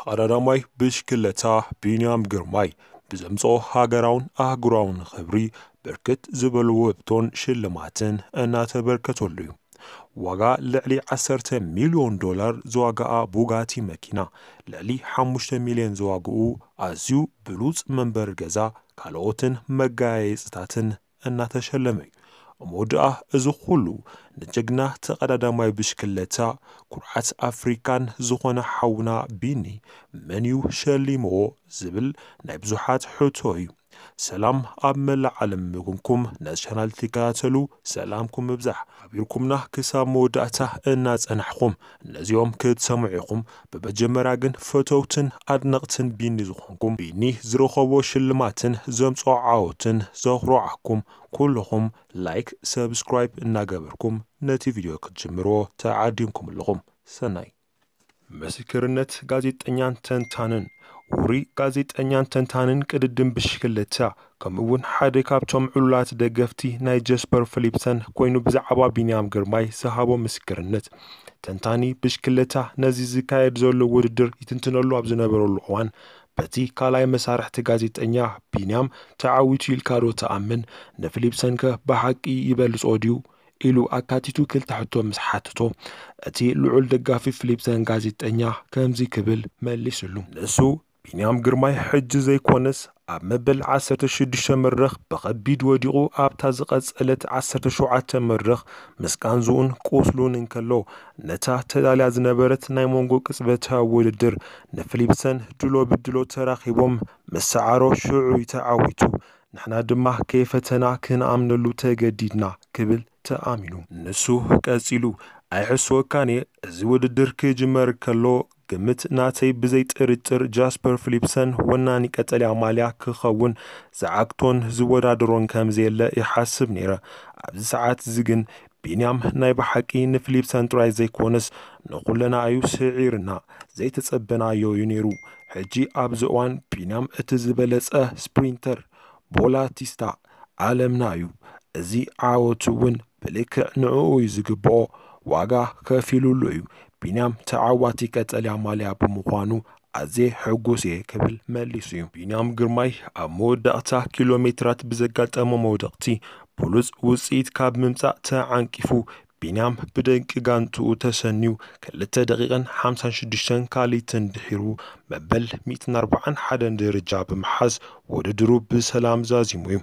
ቀዳዳማይ ብሽክለታ ቢንያም ግርማይ ብዘምጽኦ ሃገራውን ኣህጉራውን ክብሪ ብርክት ዝበሉ ውህብቶን ሽልማትን እናተበርከተሉ እዩ። ዋጋ ልዕሊ ዓሰርተ ሚልዮን ዶላር ዝዋጋኣ ቡጋቲ መኪና፣ ልዕሊ ሓሙሽተ ሚልዮን ዝዋግኡ ኣዝዩ ብሉጽ መንበሪ ገዛ፣ ካልኦትን መጋየጽታትን እናተሸለመ እዩ። እሞ ደኣ እዚ ኩሉ ንጀግና ተቐዳዳማይ ብሽክለታ፣ ኩርዓት ኣፍሪካን ዝኾነ ሓውና ቢኒ መን እዩ ሸሊምዎ ዝብል ናይ ብዙሓት ሕቶ እዩ። ሰላም ኣብ መላእ ዓለም ምጉንኩም ነዚ ቻናል ትከታተሉ ሰላምኩም ምብዛሕ ሓቢርኩምና ክሳብ መወዳእታ እናጸናሕኹም ነዚኦም ክትሰምዑ ኢኹም። ብመጀመርያ ግን ፈተውትን ኣድነቕትን ቢኒ ዝኾንኩም፣ ቢኒ ዝረኸቦ ሽልማትን ዘምጽኦ ዓወትን ዘኹርዓኩም ኩልኹም ላይክ፣ ሰብስክራይብ እናገበርኩም ነቲ ቪድዮ ክትጅምርዎ ተዓዲምኩም ኣለኹም። ሰናይ። ምስክርነት ጋዜጠኛን ተንታንን። ውሩይ ጋዜጠኛን ተንታንን ቅድድም ብሽክለታ፣ ከምኡ እውን ሓደ ካብቶም ዕሉላት ደገፍቲ ናይ ጀስፐር ፊሊፕሰን ኮይኑ ብዛዕባ ቢንያም ግርማይ ዝሃቦ ምስክርነት። ተንታኒ ብሽክለታ ነዚ ዝካየድ ዘሎ ውድድር ይትንትነሉ ኣብ ዝነበረሉ እዋን፣ በቲ ካልኣይ መሳርሕቲ ጋዜጠኛ ቢንያም ተዓዊቱ ኢልካ ዶ ትኣምን? ንፊሊፕሰን ከ ብሓቂ ይበልጾ ድዩ? ኢሉ ኣካቲቱ ክልተ ሕቶ ምስ ሓተቶ፣ እቲ ልዑል ደጋፊ ፊሊፕሰን ጋዜጠኛ ከምዚ ክብል መሊስሉ። ንሱ ቢንያም ግርማይ ሕጂ ዘይኮነስ ኣብ መበል ዓሰርተ ሽዱሽተ መድረኽ ብኸቢድ ወዲቑ ኣብታ ዝቐጸለት ዓሰርተ ሸውዓተ መድረኽ ምስ ቃንዝኡን ቁስሉን እንከሎ ነታ ተዳልያ ዝነበረት ናይ መንጎ ቅጽበታዊ ውድድር ንፊሊፕሰን ድሎ ብድሎ ተራኺቦም ምስ ሰዓሮ ሽዑ እዩ ተዓዊቱ። ንሕና ድማ ከይፈተና ክንኣምነሉ ተገዲድና ክብል ተኣሚኑ። ንሱ ቀጺሉ፣ ኣይሕስወካን እየ፣ እዚ ውድድር ክጅመር ከሎ ግምት ናተይ ብዘይ ጥርጥር ጃስፐር ፊሊፕሰን ወናኒ ቀጠልያ ማልያ ክኸውን ዝዓግቶን ዝወዳደሮን ከም ዘየለ ይሓስብ ነይረ። ኣብዚ ሰዓት እዚ ግን ቢንያም ናይ ብሓቂ ንፊሊፕሰን ጥራይ ዘይኮነስ ንኹልና እዩ ስዒርና። ዘይተጸበናዮ እዩ ነይሩ። ሕጂ ኣብዚ እዋን ቢንያም እቲ ዝበለጸ ስፕሪንተር ቦላቲስታ ዓለምና እዩ። እዚ ዓወት እውን ብልክዕ ንዕኡ እዩ ዝግብኦ። ዋጋ ከፊሉሉ እዩ። ቢንያም ተዓዋቲ ቀጠልያ ማልያ ብምዃኑ ኣዝየ ሕጉስ እየ ክብል መሊሱ እዩ። ቢንያም ግርማይ ኣብ መወዳእታ ኪሎ ሜትራት ብዘጋጠሞ መውደቕቲ ብሉጽ ውጽኢት ካብ ምምጻእ ተዓንቂፉ፣ ቢንያም ብደቂ ጋንትኡ ተሰንዩ ክልተ ደቂቕን ሓምሳን ሽዱሽተን ካልይትን ድሒሩ መበል ሚእትን ኣርባዓን ሓደን ደረጃ ብምሓዝ ውድድሩ ብሰላም ዛዚሙ እዩ።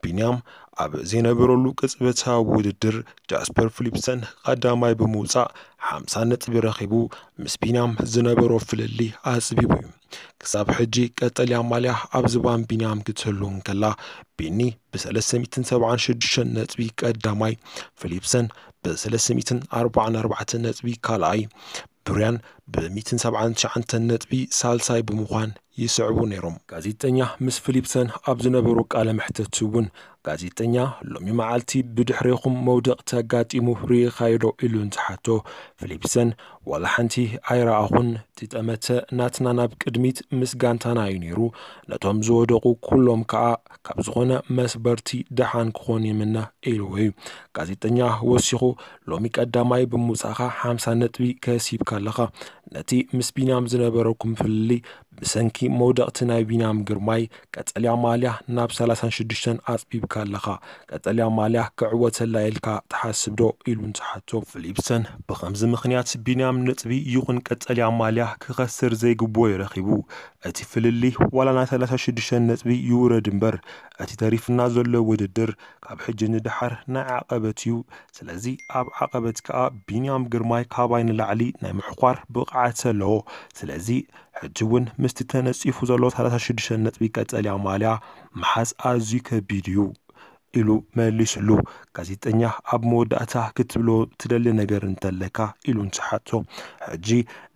ቢንያም ኣብ ዘይነበረሉ ቅጽበታዊ ውድድር ጃስፐር ፊሊፕሰን ቀዳማይ ብምውጻእ ሓምሳ ነጥቢ ረኺቡ ምስ ቢንያም ዝነበሮ ፍልልይ ኣጽቢቡ እዩ። ክሳብ ሕጂ ቀጠልያ ማልያ ኣብ ዝባን ቢንያም ክትህሉ እንከላ፣ ቢኒ ብሰለስተ ሚእትን ሰብዓን ሽዱሽተን ነጥቢ ቀዳማይ፣ ፊሊፕሰን ብሰለስተ ሚእትን ኣርባዓን ኣርባዕተን ነጥቢ ካልኣይ፣ ብርያን ብሚእትን ሰብዓን ትሽዓተን ነጥቢ ሳልሳይ ብምዃን ይስዕቡ ነይሮም። ጋዜጠኛ ምስ ፊሊፕሰን ኣብ ዝነበሮ ቃለ መሕተት እውን፣ ጋዜጠኛ ሎሚ መዓልቲ ብድሕሬኹም መውደቕቲ ኣጋጢሙ ርኢኻዮ ዶ ኢሉ እንትሓቶ፣ ፊሊፕሰን ዋላ ሓንቲ ኣይረኣኹን፣ እቲ ጠመተ ናትና ናብ ቅድሚት ምስ ጋንታና እዩ ነይሩ፣ ነቶም ዝወደቑ ኩሎም ከኣ ካብ ዝኾነ መስበርቲ ደሓን ክኾኑ ይምነ ኢልዎ እዩ። ጋዜጠኛ ወሲኹ፣ ሎሚ ቀዳማይ ብምውጻእካ ሓምሳ ነጥቢ ከሲብካ ኣለኻ። ነቲ ምስ ቢንያም ዝነበረኩም ፍልልይ ብሰንኪ መውደቕቲ ናይ ቢንያም ግርማይ ቀጠልያ ማልያ ናብ ሰላሳን ሽዱሽተን ኣጽቢብካ ኣለኻ። ቀጠልያ ማልያ ክዕወተላ ኢልካ ትሓስብ ዶ? ኢሉ እንትሓቶ፣ ፊሊፕሰን ብኸምዚ ምኽንያት ቢንያም ነጥቢ ይኹን ቀጠልያ ማልያ ክኸስር ዘይግብኦ እዩ ረኺቡ። እቲ ፍልልይ ዋላ ናይ ሰላሳ ሽዱሽተ ነጥቢ ይውረድ እምበር፣ እቲ ተሪፍና ዘሎ ውድድር ካብ ሕጂ ንደሓር ናይ ዓቐበት እዩ። ስለዚ ኣብ ዓቐበት ከኣ ቢንያም ግርማይ ካባይ ንላዕሊ ናይ ምሕኳር ብቕዓት ኣለዎ። ስለዚ ሕጂ እውን ምስቲ ተነጺፉ ዘሎ ሰላሳ ሽዱሽተ ነጥቢ ቀጠልያ ማልያ ምሓዝ ኣዝዩ ከቢድ እዩ ኢሉ መሊስሉ። ጋዜጠኛ ኣብ መወዳእታ ክትብሎ ትደሊ ነገር እንተለካ ኢሉ እንትሓቶ፣ ሕጂ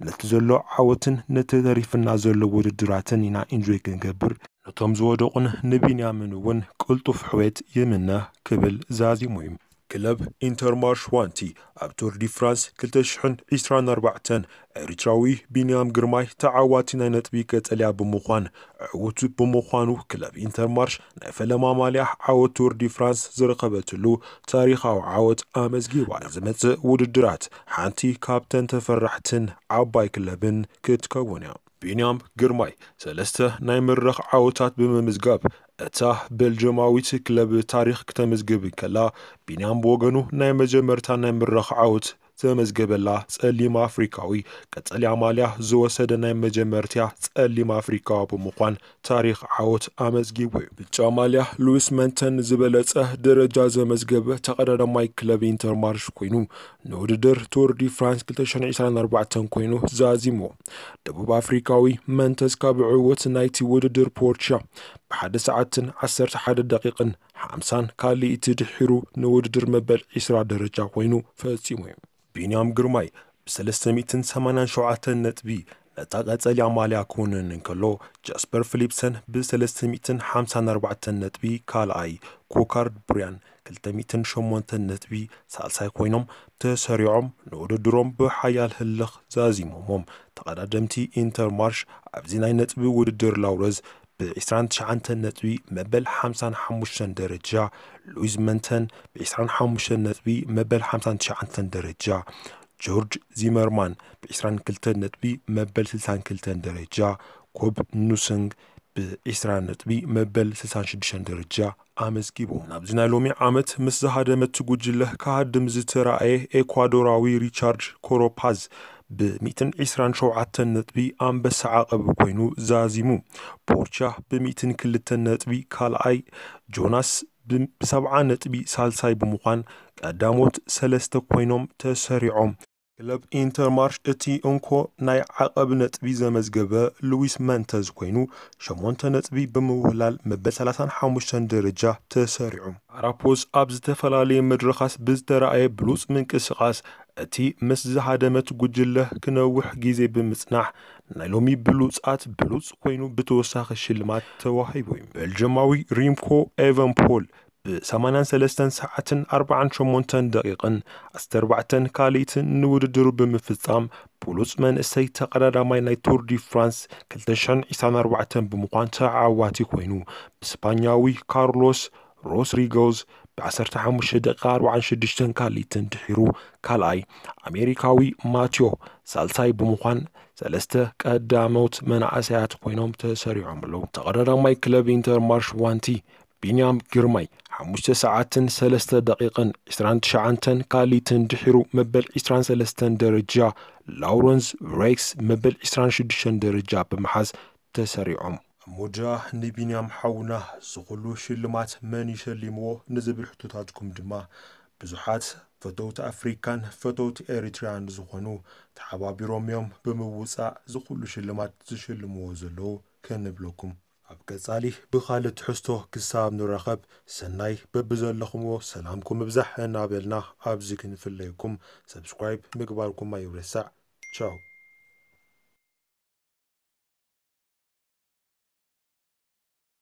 ነቲ ዘሎ ዓወትን ነቲ ተሪፍና ዘሎ ውድድራትን ኢና ኢንጆይ ክንገብር፣ ነቶም ዝወደቑን ንቢንያምን እውን ቅልጡፍ ሕውየት ይምነ ክብል ዛዚሙ እዩ። ክለብ ኢንተርማርሽ ዋንቲ ኣብ ቱር ዲ ፍራንስ ክልተ ሽሕን ዕስራን ኣርባዕተን ኤሪትራዊ ቢንያም ግርማይ ተዓዋቲ ናይ ነጥቢ ቀጠልያ ብምዃን ዕዉት ብምዃኑ፣ ክለብ ኢንተርማርሽ ናይ ፈለማ ማልያ ዓወት ቱር ዲ ፍራንስ ዝረኸበትሉ ታሪኻዊ ዓወት ኣመዝጊባ። ዝመጽእ ውድድራት ሓንቲ ካብተን ተፈራሕትን ዓባይ ክለብን ክትከውን እያ። ቢንያም ግርማይ ሰለስተ ናይ መድረኽ ዓወታት ብምምዝጋብ፣ እታ ቤልጅማዊት ክለብ ታሪኽ ክተመዝግብ እንከላ፣ ቢንያም ብወገኑ ናይ መጀመርታ ናይ መድረኽ ዓወት ዘመዝገበላ ጸሊም ኣፍሪካዊ፣ ቀጠልያ ማልያ ዝወሰደ ናይ መጀመርትያ ጸሊም ኣፍሪካዊ ብምዃን ታሪኽ ዓወት ኣመዝጊቡ እዩ። ብጫ ማልያ ሉዊስ መንተን ዝበለጸ ደረጃ ዘመዝገበ ተቐዳዳማይ ክለብ ኢንተርማርሽ ኮይኑ፣ ንውድድር ቱር ዲ ፍራንስ ክልተ ሽሕን ዕስራን ኣርባዕተን ኮይኑ ዛዚሙ። ደቡብ ኣፍሪካዊ መንተዝ ካብ ዕወት ናይቲ ውድድር ፖርቻ ብሓደ ሰዓትን ዓሰርተ ሓደ ደቂቕን ሓምሳን ካልእቲ ድሒሩ ንውድድር መበል ዕስራ ደረጃ ኮይኑ ፈጺሙ እዩ። ቢንያም ግርማይ ብሰለስተ ሚእትን ሰማንያን ሸውዓተን ነጥቢ ነታ ቀጸልያ ማልያ ክውንን እንከሎ፣ ጃስፐር ፊሊፕሰን ብሰለስተ ሚእትን ሓምሳን ኣርባዕተን ነጥቢ ካልኣይ፣ ኮካርድ ብርያን ክልተ ሚእትን ሸሞንተን ነጥቢ ሳልሳይ ኮይኖም ተሰሪዖም ንውድድሮም ብሓያል ህልኽ ዛዚሞሞም። ተቐዳደምቲ ኢንተርማርሽ ኣብዚ ናይ ነጥቢ ውድድር ላውረዝ ብ ዕስራን ትሽዓተን ነጥቢ መበል ሓምሳን ሓሙሽተን ደረጃ፣ ሉዊዝ መንተን ብ ዕስራን ሓሙሽተን ነጥቢ መበል ሓምሳን ትሽዓተን ደረጃ፣ ጆርጅ ዚመርማን ብ ዕስራን ክልተን ነጥቢ መበል ስልሳን ክልተን ደረጃ፣ ኮብ ኑስንግ ብ ዕስራ ነጥቢ መበል ስልሳን ሽዱሽተን ደረጃ ኣመዝጊቡ። ናብዚ ናይ ሎሚ ዓመት ምስ ዝሃደመት ጉጅለ ክሃድም ዝተራእየ ኤኳዶራዊ ሪቻርድ ኮሮፓዝ ብ ሚእትን ዕስራን ሸውዓተን ነጥቢ ኣንበሳ ዓቐብ ኮይኑ ዛዚሙ። ፖርቻ ብ ሚእትን ክልተን ነጥቢ ካልኣይ፣ ጆናስ ብ-፣ ብሰብዓ ነጥቢ ሳልሳይ ብምዃን ቀዳሞት ሰለስተ ኮይኖም ተሰሪዖም። ክለብ ኢንተርማርሽ እቲ እንኮ ናይ ዓቐብ ነጥቢ ዘመዝገበ ሉዊስ መንተዝ ኮይኑ፣ ሸሞንተ ነጥቢ ብምውህላል መበል ሰላሳን ሓሙሽተን ደረጃ ተሰሪዑ። ኣራፖዝ ኣብ ዝተፈላለየ መድረኻት ብዝተረኣየ ብሉጽ ምንቅስቓስ፣ እቲ ምስ ዝሃደመት ጉጅለ ክነውሕ ግዜ ብምጽናሕ፣ ናይ ሎሚ ብሉጻት ብሉጽ ኮይኑ ብተወሳኺ ሽልማት ተዋሂቡ እዩ። ቤልጅማዊ ሪምኮ ኤቨንፖል ብ ሰማንያን ሰለስተን ሰዓትን ኣርባዓን ሸሞንተን ደቂቕን ዓሰርተ ኣርባዕተን ካልኢትን ንውድድሩ ብምፍጻም፣ ብሉጽ መንእሰይ ተቐዳዳማይ ናይ ቱር ዲ ፍራንስ ክልተ ሽሕን ዕስራን ኣርባዕተን ብምዃን ተዓዋቲ ኮይኑ፣ ብስፓኛዊ ካርሎስ ሮስሪጎዝ ብ ዓሰርተ ሓሙሽተ ደቂቓ ኣርባዓን ሽዱሽተን ካልኢትን ድሒሩ ካልኣይ፣ ኣሜሪካዊ ማቲዮ ሳልሳይ ብምዃን ሰለስተ ቀዳሞት መናእሰያት ኮይኖም ተሰሪዖም ኣለዉ። ተቐዳዳማይ ክለብ ኢንተርማርሽ ዋንቲ ቢንያም ግርማይ ሓሙሽተ ሰዓትን ሰለስተ ደቂቕን ዕስራን ትሽዓተን ካልኢትን ድሒሩ መበል ዕስራን ሰለስተን ደረጃ፣ ላውረንስ ሬክስ መበል ዕስራን ሽዱሽተን ደረጃ ብምሓዝ ተሰሪዖም። እሞ ድኣ ንቢንያም ሓውና ዝኹሉ ሽልማት መን ይሸሊምዎ ንዝብል ሕቶታትኩም ድማ ብዙሓት ፈተውቲ ኣፍሪካን ፈተውቲ ኤሪትሪያን ዝኾኑ ተሓባቢሮም እዮም ብምውፃእ ዝኹሉ ሽልማት ዝሽልምዎ ዘለዉ ክንብለኩም። ኣብ ቀጻሊ ብኻልእ ትሕዝቶ ክሳብ ንራኸብ፣ ሰናይ በብዘለኹምዎ ሰላምኩም ይብዛሕ እናበልና ኣብዚ ክንፍለየኩም ሰብስክራይብ ምግባርኩም ኣይረሳዕ። ቻው።